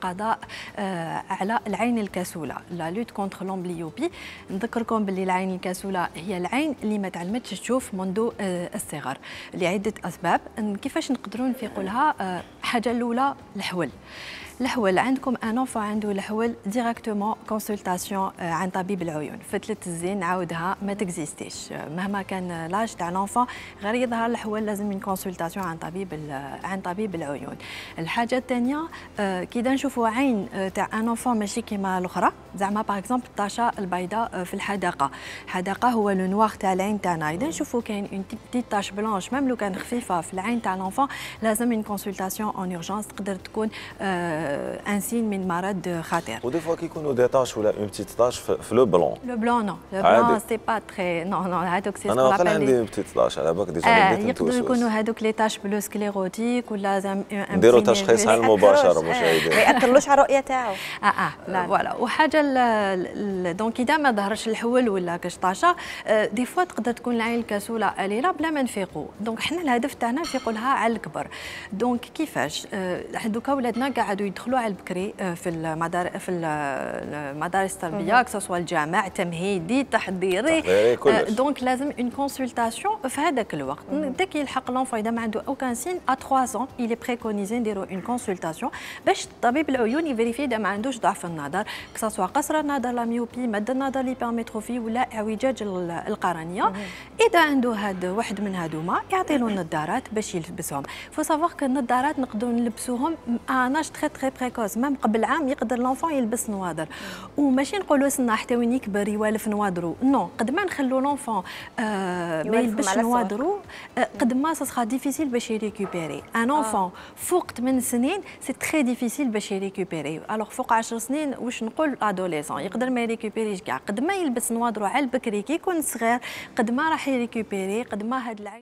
القضاء على العين الكسولة، لا لوت كونتر لومبليوبي. نذكركم باللي العين الكسولة هي العين اللي ما تعلمتش تشوف منذ الصغر لعدة أسباب. كيفاش نقدروا نفيقوا لها؟ حاجة الأولى الحول. عندكم ان انفون عنده الحول ديريكتومون كونسلطاسيون عن طبيب العيون. فتله الزين نعاودها ما تكزيستيش مهما كان لاج تاع الانفون، غير يظهر الحول لازم من كونسلطاسيون عن طبيب العيون. الحاجه الثانيه كي نشوفوا عين تاع ان انفون ماشي كيما الاخرى، زعما باغ اكزومبل الطاشه البيضاء في الحدقه هو لو نوار تاع العين تاعنا. اذا نشوفوا كاين اون بتيت تاش بلانش ميم لو كان خفيفه في العين تاع الانفون، لازم من كونسلطاسيون اون اورجونس، تقدر تكون ان سين من مرض خطير. ودي فوا كيكونوا دي تاش ولا اون بتيت تاش في لو بلون. لو بلون نو، لو بلون سي با تري نو هذوك سي انا واقيلا عندي بتيت تاش على بالك ديجا بديت يقدروا يكونوا هذوك لي تاش بلو سكليروتيك ولا زعما نديروا تشخيص على المباشره مشاهدينا. ما ياثرلوش على الرؤيه تاعو. لا فوالا. وحاجه دونك اذا ما ظهرش الحول ولا كاش طاشه دي فوا تقدر تكون العين الكسوله قليله بلا ما نفيقوا. دونك حنا الهدف تاعنا نفيقوا لها على الكبر. دونك كيفاش دوكا ولادنا قاعدوا يدخلوا على البكري في المدارس التربيه، كسوا الجامع تمهيدي تحضيري دونك لازم اون كونسلطاسيون في هذاك الوقت. داك يلحق لونفون اذا ما عنده اوكان سين ا 3 ans il est préconisé نديروا اون كونسلطاسيون باش طبيب العيون يفيريفي اذا ما عندوش ضعف النظر، كسوا قصر النظر لا ميوبي، مد النظر ليبرميتروفي ولا اعوجاج القرنيه. اذا عنده هذا واحد من هذوما يعطي له النظارات باش يلبسهم. فو سافوار كو النظارات نقدروا نلبسوهم اناج تري تري بريكوز، ميم قبل عام يقدر لونفون يلبس نواظر، وماشي نقولوا سنا حتى وين يكبر يوالف نواظرو، نو قد ما نخلوا لونفون ما يلبسش نواظرو قد ما سا ديفيسيل باش يريكوبيري. ان انفون فوق 8 سنين سي تري ديفيسيل باش يريكوبيري، الوغ فوق 10 سنين واش نقول ادوليسون يقدر ما يريكوبيريش كاع. قد ما يلبس نواظرو على البكري كي يكون صغير قد ما راح يريكوبيري، قد ما هاد العين